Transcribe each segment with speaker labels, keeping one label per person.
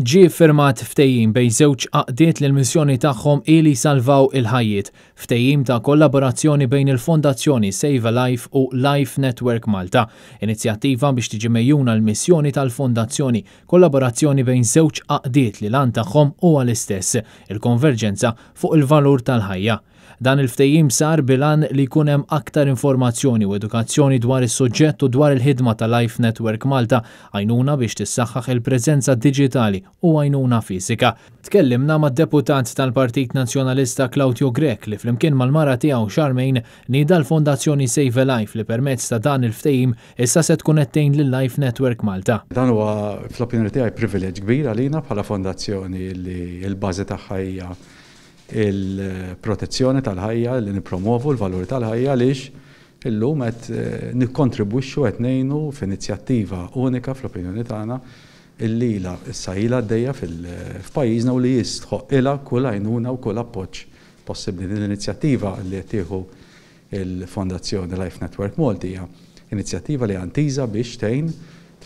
Speaker 1: Ġie ffirmat ftehim bejn żewġ għaqdiet li l-missjoni tagħhom hi li jsalvaw il-ħajjiet. Ftehim ta' kollaborazzjoni bejn il-Fondazzjoni Save a Life u Life Network Malta. Inizjattiva biex tiġi megħjuna l-missjoni tal-Fondazzjoni. Kollaborazzjoni bejn żewġ għaqdiet li l-għan tagħhom huwa l-istess, il-konverġenza fuq il-valur tal-ħajja. Dan il-ftehim sar bil-għan li jkun hemm aktar informazzjoni u edukazzjoni dwar is-suġġett u dwar il-ħidma ta' Life Network Malta, għajnuna biex tissaħħaħ il-preżenza diġitali u għajnuna fiżika. Tkellimna mad-Deputat tal-Partit Nazzjonalista Claudio Grech li flimkien mal-mara tiegħu Charmaine nieda l-Fondazzjoni Save a Life li permezz ta' dan il-ftehim issa se tkun qed tgħin lil Life Network Malta.
Speaker 2: Dan huwa fl-opinjoni tiegħi privileġġ kbir għalina bħala fondazzjoni li l-bażi tagħha hija il-protezzjoni tal-ħajja, li nippromovu l-valuri tal-ħajja għaliex illum qed nikkontribwixxu qed ngħinu f'inizjattiva unika fl-opinjoni tagħna illi ilha issa ilha għaddejja f'pajjiżna u li jistħoqqilha kull għajnuna u kull appoġġ possibbli. Din l-inizjattiva li qed tieħu l-Fondazzjoni Life Network Malta hija inizjattiva li intiża biex tgħin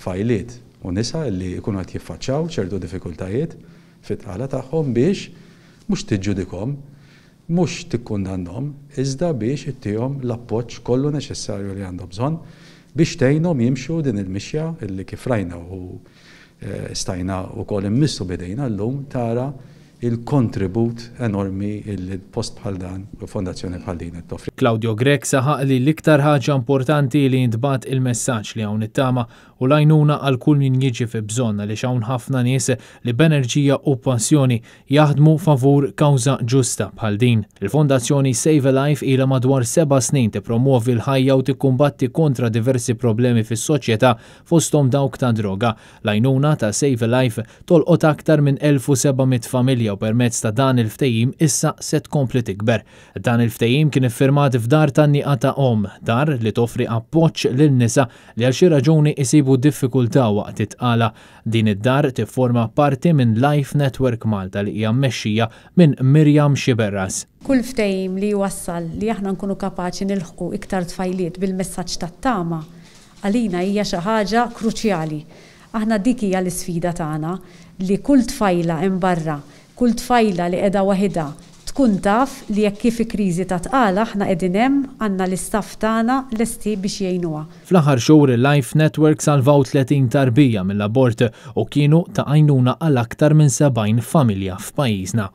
Speaker 2: tfajliet u nisa li jkunu qed jiffaċċjaw ċertu diffikultajiet fit-tqala tagħhom biex mhux tiġġudikahom, mhux tikkundannhom, iżda biex ittihom l-appoġġ kollu neċessarju li għandhom bżonn biex tgħinhom jimxu din il-mixja illi kif rajna u stajna wkoll immissu b'idejna llum tara il-kontribut enormi illi post bħal dan u fondazzjoni bħal din qed toffri.
Speaker 1: Claudio Grech saħaq li l-iktar ħaġa importanti li jintbagħat il-messaġġ li hawn it-tama u l-għajnuna għal kull min jiġi fi bżonn għaliex hawn ħafna nies li b'enerġija u passjoni jaħdmu favur kawża ġusta bħal din. Il-Fondazzjoni Save a Life ilha madwar 7 snin tippromuovi l-ħajja u tikkumbatti kontra diversi problemi fis-soċjetà, fosthom dawk ta' droga. L-għajnuna ta' Save a Life tolqot aktar minn 1700 familja u permezz ta' dan il-ftehim issa se tkompli tikber. Dan il-ftehim kien iffirmat f'dar tan-Nieqa ta' Omm, dar li toffri appoġġ lil nisa li għal xi raġuni isibu diffikultà waqt it-tqala. Din id-dar tifforma parti minn Life Network Malta li hija mmexxija minn Mirjam Xiberras.
Speaker 3: Kull ftehim li jwassal li aħna nkunu kapaċi nilħqu iktar tfajliet bil-messaġġ tat-tama għalina hija xi ħaġa kruċjali. Aħna dik hija l-isfida tagħna, li kull tfajla hemm barra, kull tfajla li qiegħda waħidha tkun taf li jekk kif kriżi ta' tqala, aħna qegħdin hemm, għandna l-istaff tagħna lesti biex jgħinuha.
Speaker 1: Fl-aħħar xhur il-Life Network salvaw 30 tarbija mill-abort u kienu ta' għajnuna għal aktar minn 70 familja f'pajjiżna.